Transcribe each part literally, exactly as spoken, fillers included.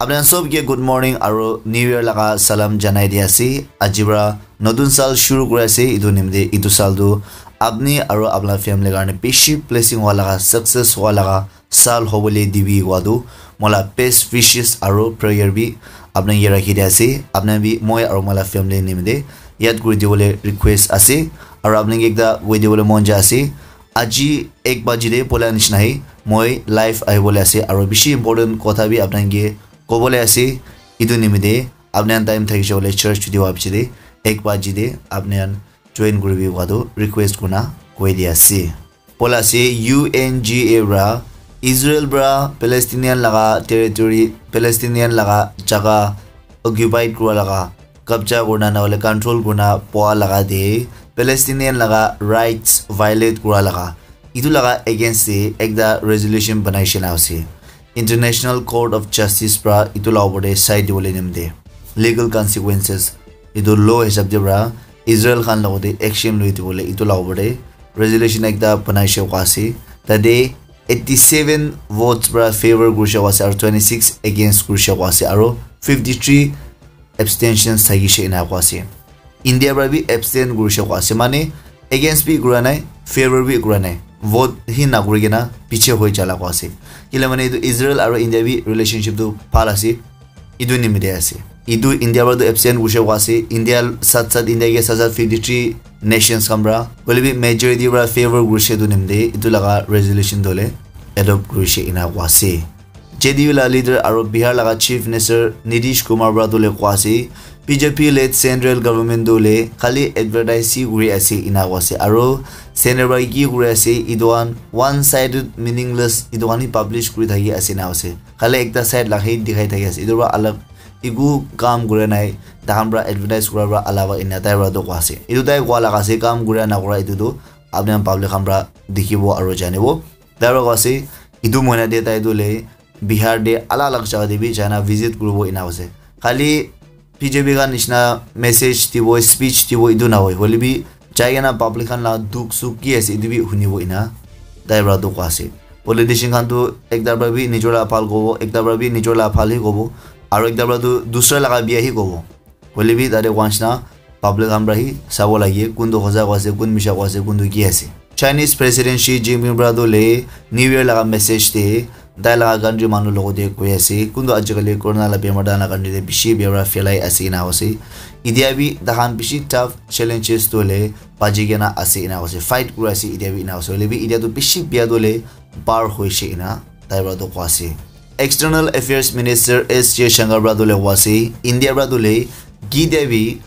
Apni khan sob ke good morning aro New Year laga salam janai di ase. Aji pra notun sal shuru kuri ase. Etu nimite etu sal tu apni aro apna family karne bishi blessing hua laga, success hua laga sal hobole dibi koa tu moila best wishes aro prayer bi apna ke rakhi di ase. Apna bi moi aro moila family nimite yad kuri dibole request ase. Aro apna ke ekta koi dibole mon jai ase. Aji ek baji de bola nishina he moi live ahibole ase aro bishi important kotha bi apna ke kobole ase. Etu nimite apni khan time thakishe koile church chuti howa piche te ek baji te apni khan join kuribi koa tu request kurina koi di ase. Bola ase U N G A pra Israel pra Palestinian laga territory, Palestinian laga jaga occupied kura laga, kabja kurina na hoile control kurina poa laga te Palestinian laga rights violate kura laga, etu laga against te ekta resolution banai shena ase. International Court of Justice pra etu la opor te sai dibole nimite legal consequences etu law hisab te pra Israel khan logote action loi dibole etu la opor te resolution ekta banai she koa ase. Tate eighty seven votes pra favor kuri she koa ase aro twenty six against kuri she koa ase aro fifty three abstentions thakishe ena koa ase. India pra bi abstain kurishe koa ase, mane against bi kura nai, favor bi kura nai, vote hi nakuri kena piche hoi jala koa ase. Kile mane etu Israel aro India bi relationship tu bhal ase, etu nimite ase. Etu India pra tu abstain kurishe koa ase, India sat sat, India ke sat sat fifty three nations khan pra, hoile bi majority pra favor kurishe etu nimite etu laga resolution tu hoile adopt kurishe ena koa ase. J D U la leader aro Bihar laga Chief Minister Nitish Kumar pra tu le koa ase, B J P led central government tu le khali advertise hi kuri ase ena koa ase, aro center pra ki kuri ase etu khan one sided meaningless etu khan hi publish kuri thaki ase ena koa ase, khali ekta side la hi dikhai thaki ase, etu pra alag eku kam kura nai, takhan pra advertise kura pra alawa ena tai pra tu koa ase. Etu tai koa laga ase, kam kura nakura etu tu apni khan public khan pra dikhibo aro janibo. Tai pra koa ase, etu mohina te tai tu le Bihar te alag alag jaga te bi jaina visit kuribo ena ase. Khali B J P khan nishina message dibo, speech dibo etu nahoi, hoile bi jai kena public khan la dukh sukh ki ase etu bi hunibo ena tai pra tu koa ase. Politician khan tu ekta pra bi nijor la bhal kobo, ekta pra bi nijor la bhal hi kobo, aro ekta pra tu dusra laga bia hi kobo. Hoile bi tate koa nishina public khan pra hi sabo lage, kun tu hoja koa ase, kun misha koa ase, kun tu ki ase. Chinese President Xi Jinping pra tu le New Year laga message te tai laga country manu logote koi ase, kun tu ajikali corona la bemar tai laga country te bishi bia pra phelai ase ena koa ase. Etia bi takhan bishi tough challenges tu le baji kena ase ena koa ase, fight kuri ase etia bi ena koa ase. Hoile bi etia tu bishi bia tu le par hoishe ena tai pra tu koa ase. External Affairs Minister S Jaishankar pra tu le koa ase, India pra tu le kide bi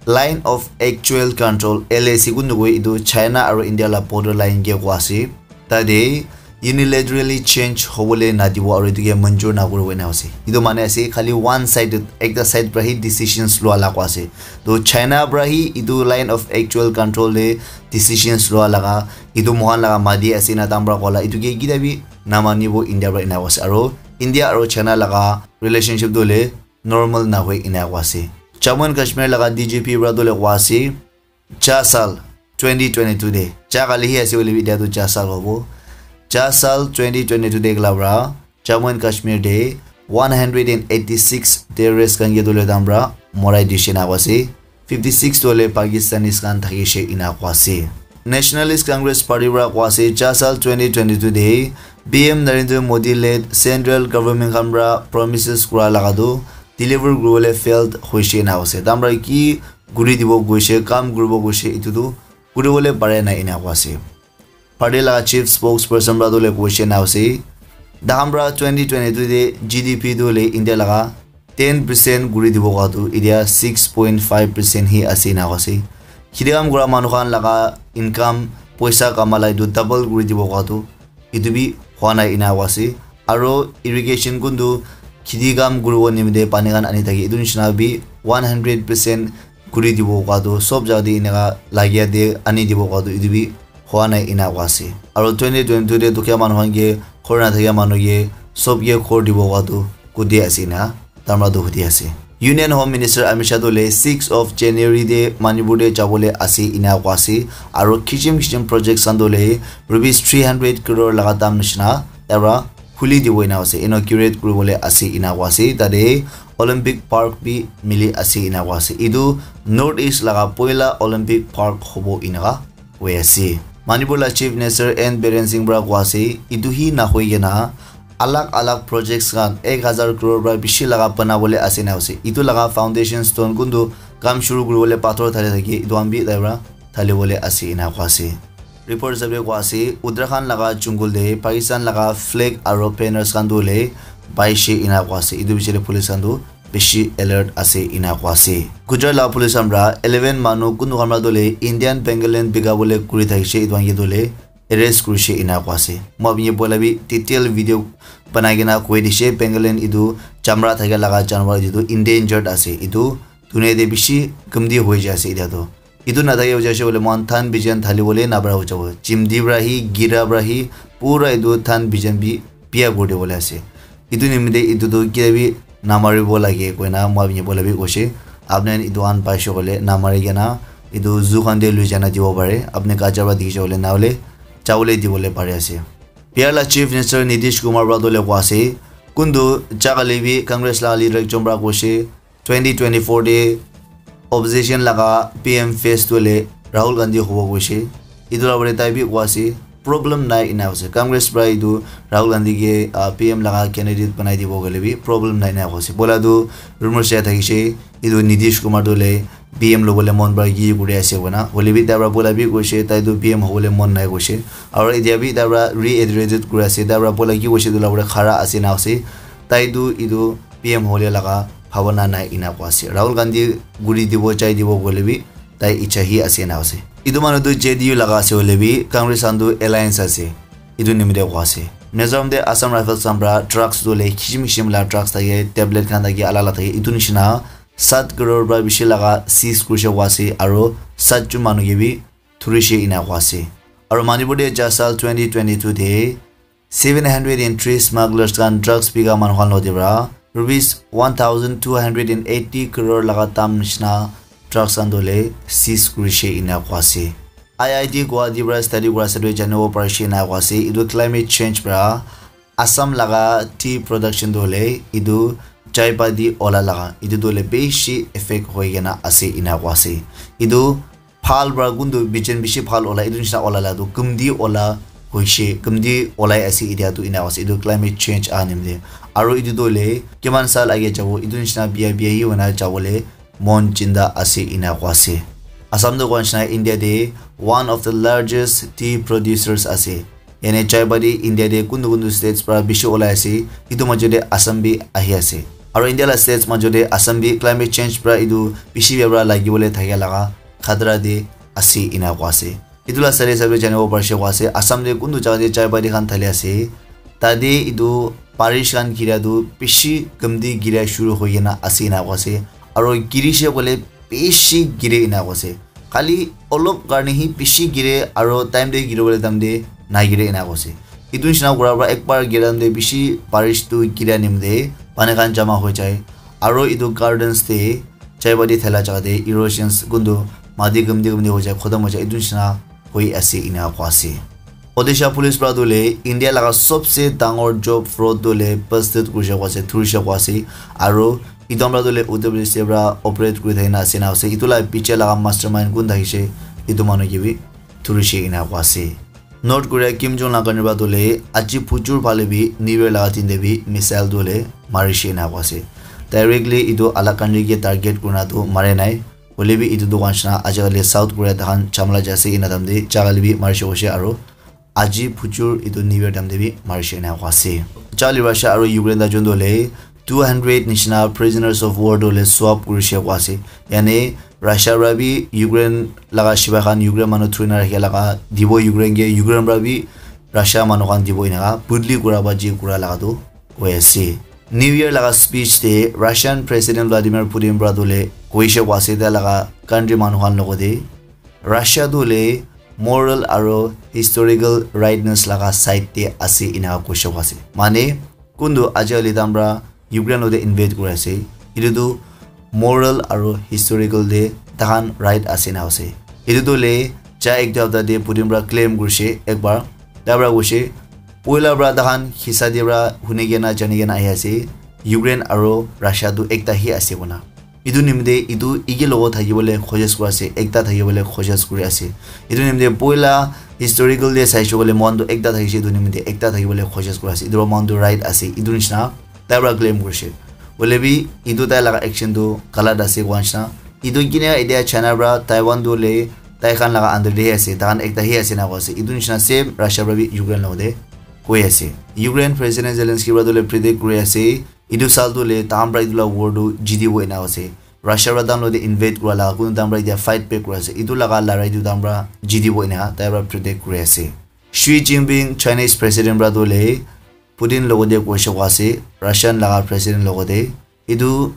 Line of Actual Control, L A C, kun tu koi etu China aro India la border line ke koa ase. Tate unilaterally change hobole nadibo aro etu ke manjur nakuribo ena ase. Etu mane ase khali one sided, ekta side pra hi decisions lua la koa ase. To China pra hi etu Line of Actual Control te decisions lua laga, etu mohan laga mati ase na tam pra koa la, etu ke kida bi namanibo India pra ena koa ase. Aro India aro China laga relationship tu le normal nahoi ena koa ase. Jammu and Kashmir laga D G P pra tu le koa ase, cha sal twenty twenty-two te, cha kali hi ase hoile bi etia tu cha sal hobo. Cha sal twenty twenty-two te ekla pra Jammu and Kashmir te one hundred and eighty-six terrorist khan ke tu le tam pra morai dishe ena koa ase. Fifty-six tu hoile Pakistanis khan thakishe ena koa ase. Nationalist Congress Party pra koa ase, cha sal twenty twenty-two te P M Narendra Modi led central government khan pra promises kura laga tu deliver kuribole failed hoishe ena koa ase. Tam pra ki kuri dibo koishe, kam kuribo koishe, etu tu kuribole pare nai ena koa ase. Party laga chief spokesperson pra tu le koishe ena ase, takhan pra twenty twenty-two te G D P tu le India laga ten percent kuri dibo koa tu etia six point five percent hi ase ena koa ase. Kheti kam kura manu khan laga income, poisa kama la etu double kuri dibo koa tu etu bi hua nai ena koa ase. Aro irrigation kun tu kheti kam kuribo nimite pani khan ani thake, etu nishina bi one hundred percent kuri dibo koa tu, sob jaga te eneka lagia te ani dibo koa tu etu bi hua nai ena koa ase. Aro twenty twenty-two te dukhia manu khan ke, ghor nathakia manu ke, sob ke ghor dibo koa tu kute ase ena tamra tu hudi ase. Union Home Minister Amit Shah tu le six of January te Manipur te jabole ase ena koa ase. Aro kichim kichim projects khan tu le rupees three hundred crore laga dam nishina tai pra khuli dibo ena ase, inaugurate kuribole ase ena koa ase. Tate Olympic Park bi mili ase ena koa ase. Etu North East laga poila Olympic Park hobo enaka koi ase. Manipur la Chief Minister N Biren Singh para koa ase, etu hi nahoi kena alag alag projects khan ek hazar crore para bishi laga banabole ase ena ase. Etu laga foundation stone kuntu kam shuru kuribole pathor thali thaki etu khan bi tai para thalibole ase ena koa ase. Report hisabe koa ase, Uttarakhand laga jungle te Pakistan laga flag aro banners khan tu hoile paishe ena koa ase. Etu bichare police khan tu bishi alert ase ena koa ase. Gujarat laga police khan para eleven manu kuntu khan para tu hoile Indian pangolin bika bole kuri thakishe, etu khan ke tu hoile arrest kurishe ena koa ase. Moi apni ke poila bi detail video banai kena koi dishe, pangolin etu chamra thaka laga janwar etu tu endangered ase. Etu dunia te bishi kamti hoi jai ase etia tu. Etu nathake hoile moikhan than bijan thali bole nabara ho jabo. Chimdi para hi, gira para hi, pura etu than bijan bi biya kuri dibole ase. Etu nimite etu tu kia bi namaribo lage koina moi apni ke poila bi koishe. Apni khan etu khan paishe koile namari kena etu zoo khan te lui jana dibo pare. Apni kacha para dikhishe koile nahole chabole dibole pare ase. Bihar la Chief Minister Nitish Kumar para tu hoile koa ase, kuntu jagale bi Congress la leader ekjon para koishe, twenty twenty-four te opposition laga P M face tu hoile Rahul Gandhi hobo koishe. Etu la pore tai bi koa ase, problem nai ena ase. Congress para etu Rahul Gandhi ke, ah, P M laga candidate banai dibo koile bi problem nai ena ase. Poila tu rumors jai thakishe, etu Nitish Kumar tu hoile P M lobole mon para ki kuri ase koina. Hoile bi tai para poila bi koishe, tai tu P M hobole mon nai koishe. Aro etia bi tai para reiterated kuri ase, tai para poila ki koishe etu la pore khara ase na ase. Tai tu etu P M hole laga bhabana nai ena koa ase. Rahul Gandhi guri dibo, chai dibo koile bi tai icha hi ase ena ase. Etu manu tu J D U laga ase hoile bi Congress khan tu alliance ase. Etu nimite koa ase. Mizoram te Assam Rifles khan para drugs tu hoile kishim kishim la drugs thake, tablet khan thake, alak alak thake. Etu nishina sat crore para bishi laga seize kurishe koa ase aro sat jon manu ke bi thurishe ena koa ase. Aro Manipur te ja sal twenty twenty-two te seven hundred and three smugglers khan drugs bika manu khan lode para rupees one thousand two hundred and eighty crore laga dam nishina drugs khan tu hoile seize kurishe ena koa ase. I I T Guwahati para study kura ase tu janibo parishe ena koa ase. Etu climate change para Assam laga tea production tu hoile etu chai patti ola laga etu tu hoile bishi effect hoi kena ase ena koa ase. Etu bhal para kuntu bijan bishi bhal ola, etu nishina ola la tu kumti ola hoishe, kumti olai ase etia tu ena ase. Etu climate change aha nimite. Aro etu tu hoile kiman sal age jabo, etu nishina biya biya hi hoina jabole mon chinta ase ena koa ase. Assam tu koa nishina India te one of the largest tea producers ase. Yane chai patti India te kuntu kuntu states para bishi olai ase, etu majo te Assam bi ahi ase. Aro India la states majo te Assam bi climate change para etu bishi bia para lagi bole thakia laga khatra te ase ena koa ase. Etu la side hisab te janibo parishe koa ase, Assam te kuntu jaga te chai patti khan thali ase, tate etu barish khan gira tu bishi kamti gira shuru hoi kena ase ena koa ase. Aro girishe koile bishi gire ena koa ase. Khali olop karne hi bishi gire aro time te giri bole time te na gire ena koa ase. Etu nishina kura para ek bar gira time te bishi barish tu gira nimite pani khan jama hoi jai. Aro etu gardens te chai patti thaila jaga te erosions kuntu mati kumti kumti hoi jai, khotom hoi jai, etu nishina hoi ase ena koa ase. Odisha police para tu hoile India laga sobse dangor job fraud tu hoile busted kurishe koa ase, thurishe koa ase. Aro etu para tu hoile Uttar Pradesh te para operate kuri thakina ase na ase. Etu la piche laga mastermind kun thakishe, etu manu ke bi thurishe ena koa ase. North Korea Kim Jong Un la karne para tu hoile aji phujur phale bi New Year laga din te bi missile tu hoile marishe ena koa ase. Directly etu alak country ke target kurina tu mare nai. Hoile bi etu dukan nishina ajikali South Korea tahan chamla jai ase ena time te jagale bi marishe koishe aro aji phujur etu New Year time te bi marishe ena koa ase. Charli Russia aro Ukraine ta jun tu hoile two hundred nishina prisoners of war tu hoile swap kurishe koa ase. Yane Russia para bi Ukraine laga shipai khan Ukraine manu thurina rakhi laga dibo Ukraine ke, Ukraine para bi Russia manu khan dibo enaka budli kura ba ji kura laga tu koi ase. New Year laga speech te Russian President Vladimir Putin para tu hoile koishe koa ase tai laga country manu khan logote Russia tu hoile moral aro historical rightness laga side te ase enaka koishe koa ase. Mane kuntu ajikali tahan para Ukraine logote invade kuri ase, etu tu moral aro historical te tahan right ase na ase. Etu tu hoile ja ek hapta te Putin para claim kurishe ek bar, tai para koishe Poila pra takhan hisa te pra huni kena jani kena ahi ase, Ukraine aro Russia tu ekta hi ase koina. Etu nimite etu eke logo thakibole khojis kuri ase, ekta thakibole khojis kuri ase. Etu nimite poila historical te saishe koile moikhan tu ekta thakishe, etu nimite ekta thakibole khojis kuri ase. Etu pra moikhan tu right ase, etu nishina tai pra claim kurishe. Hoile bi etu tai laga action tu galat ase koa nishina. Etu kine etia China pra Taiwan tu le tai khan laga under te hi ase, tai khan ekta hi ase na koa ase. Etu nishina same Russia pra bi Ukraine logo te koi ase. Ukraine President Zelensky pra tu le predict kuri ase, etu sal tu le tahan pra etu la war tu jitibo ena ase. Russia pra tahan logo te invade kura laga, kunu tahan pra etia fight back kuri ase. Etu laga larai tu tahan pra jitibo ena tai pra predict kuri ase. Xi Jinping Chinese President pra tu le Putin logo te koishe koa ase, Russian laga President logo te. Etu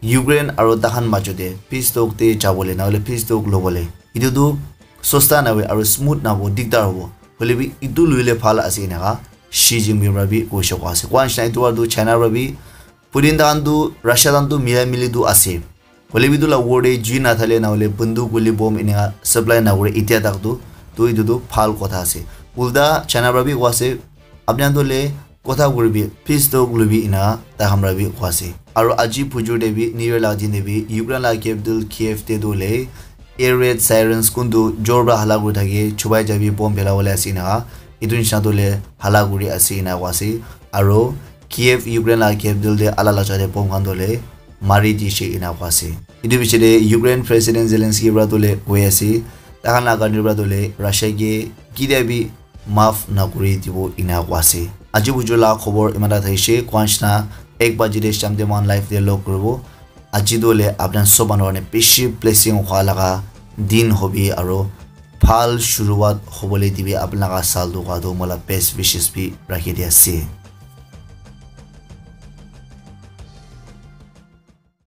Ukraine aro takhan majo te peace talk te jabole, nahole peace talk lobole. Etu tu sosta nahoe aro smooth nabo, digdar hobo. Hoile bi etu loile bhal ase enaka Xi Jinping pra bi koishe koa ase. Koa nishina etu pra tu China pra bi Putin takhan tu Russia takhan tu mila mili tu ase. Hoile bi etu la war te jui nathale nahole bunduk guli bomb eneka supply nakure etia tak tu, tu etu tu bhal kotha ase. Ulta China pra bi koa ase, apni khan tu le kotha kuribi, peace talk lobi ena tai khan pra bi koa ase. Aro aji phujur te bi, New Year la din te bi, Ukraine la capital Kiev te tu le air raid sirens kuntu jor pra hala kuri thake, chubai jabi, bomb phela bole ase eneka. Etu nishina tu le hala kuri ase ena koa ase. Aro Kiev, Ukraine la capital te ala la jate bomb khan tu le mari dishe ena koa ase. Etu piche te Ukraine President Zelensky pra tu le koi ase, takhan la country pra tu le Russia ke kitia bi maaf nakuri dibo ena koa ase. Aji buju la khobor iman ta thaishe, koa nishina ek baji te sham te moikhan live te log kuribo. Aji tu le apna sob manu karne bishi blessing hwa laga din hobi aro bhal shuruwat hobole dibi apna laga sal tu ka tu mola best wishes bi rakhi di ase.